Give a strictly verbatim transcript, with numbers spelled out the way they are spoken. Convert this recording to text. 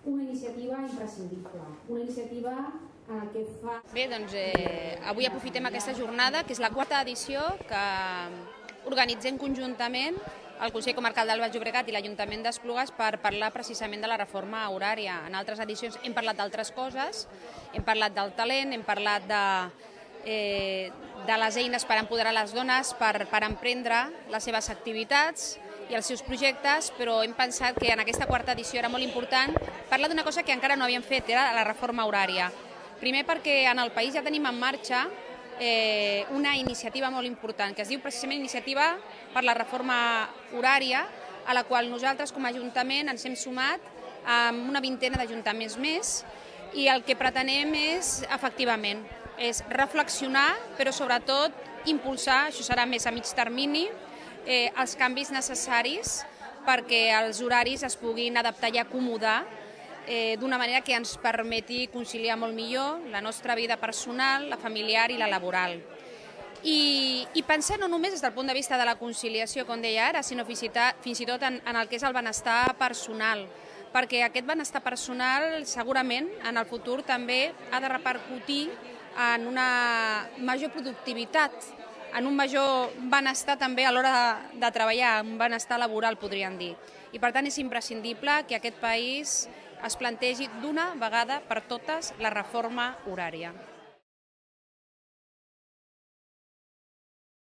una iniciativa imprescindible, una iniciativa eh, que fa... Bé, doncs eh, avui aprofitem aquesta jornada, que és la quarta edició que organitzem conjuntament el Consell Comarcal del Baix Llobregat i l'Ajuntament d'Esplugues per parlar precisament de la reforma horària. En altres edicions hem parlat d'altres coses, hem parlat del talent, hem parlat de, eh, de les eines per empoderar les dones, per, per emprendre les seves activitats i els seus projectes, però hem pensat que en aquesta quarta edició era molt important parlar d'una cosa que encara no havíem fet, era la reforma horària. Primer perquè en el país ja tenim en marxa eh, una iniciativa molt important, que es diu precisament Iniciativa per la Reforma Horària, a la qual nosaltres com a Ajuntament ens hem sumat amb una vintena d'ajuntaments més, i el que pretenem és, efectivament, és reflexionar, però sobretot impulsar, això serà més a mig termini, eh, els canvis necessaris perquè els horaris es puguin adaptar i acomodar eh, d'una manera que ens permeti conciliar molt millor la nostra vida personal, la familiar i la laboral. I, i pensar no només des del punt de vista de la conciliació, com deia ara, sinó fins i, fins i tot en, en el que és el benestar personal, perquè aquest benestar personal segurament en el futur també ha de repercutir en una major productivitat, en un major benestar també a l'hora de, de treballar, un benestar laboral, podríem dir. I per tant és imprescindible que aquest país es plantegi d'una vegada per totes la reforma horària.